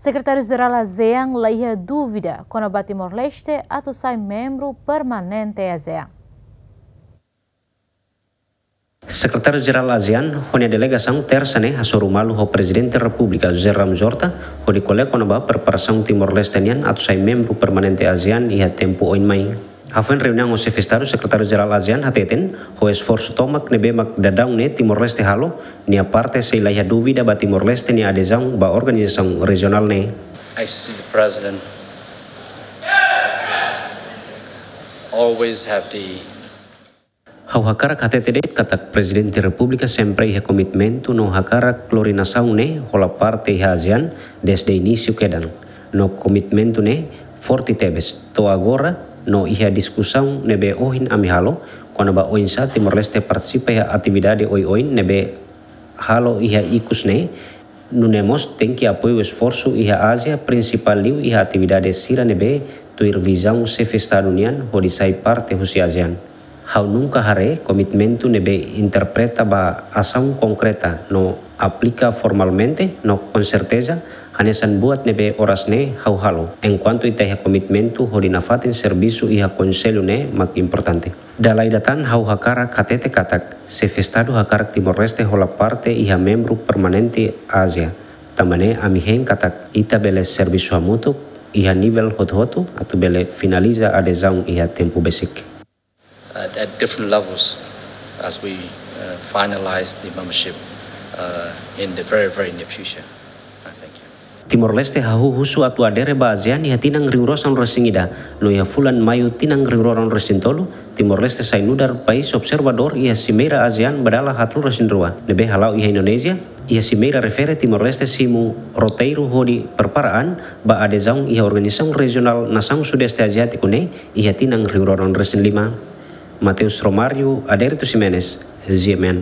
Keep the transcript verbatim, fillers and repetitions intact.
Sekretáriu-Jerál ASEAN la iha dúvida kona-ba Timor-Leste atu sai membru permanente ASEAN. Sekretáriu-Jerál ASEAN ho nia delegasaun Tersa ne'e hasoru malu ho Prezidente Repúblika José Ramos Horta hodi ko'alia kona-ba preparasaun Timor-Leste nian atu sai membru permanente ASEAN iha tempu oin mai. Hafoin reuniaun ho Xefe Estadu, Sekretáriu-Jerál ASEAN hateten, ho esforsu tomak ne'ebé mak daudaun ne'e Timor-Leste halo, nia parte sei la iha dúvida ba Timor-Leste nia adezaun ba organizasaun rejionál ne'e. I see the president always have the Ha'u hakarak hatete de'it katak Prezidente Repúblika sempre iha komitmentu no hakarak lori nasaun ne'e hola parte iha ASEAN desde inísiu kedan. No komitmentu ne'e forte tebes. To'o agora no iha diskusaun ne'ebé ohin ami halo kona-ba oinsá Timor-Leste partisipa iha atividade oioin ne'ebé halo iha ikus ne'e, nune'e mós tenke apoiu esforsu iha Ázia, prinsipál liu iha atividade sira ne'ebé tuir vizaun Xefe Estadu nian hodi sai parte husi ASEAN. Ha'u nunka haree komitmentu ne'ebé interpreta ba asaun konkreta no aplika formalmente no konserteza hanesan buat ne'ebé oras ne'e ha'u halo. Enkuantu ita iha komitmentu hodi nafatin servisu iha Konsellu ne'e mak importante. Dala ida tan ha'u hakarak hatete katak Xefe Estadu hakarak Timor-Leste hola parte iha membru permanente ASEAN. Tanba ne'e ami hein katak ita bele servisu hamutuk iha nivel hotu-hotu atu bele finaliza adezaun iha tempu besik. At, at different levels as we uh, finalize the membership uh, in the very, very near future. Uh, thank you. Timor-Leste hahú husu atu adere ba ASEAN iha tinan rihun rua sanulu-resin-ida, no iha fulan Maiu tinan rihun rua ruanulu-resin-tolu, Timor-Leste sai nu'udar país observadór iha Simeira ASEAN ba dala haatnulu-resin-rua, ne'ebé hala'o iha Indonézia. Iha Simeira refere Timor-Leste simu roteiru hodi prepara an ba adezaun iha Organizasaun Rejionál Nasaun Sudeste Aziátiku ne'e iha tinan rihun rua ruanulu-resin-lima. Mateus Romário, Adérito Ximenes, G M N.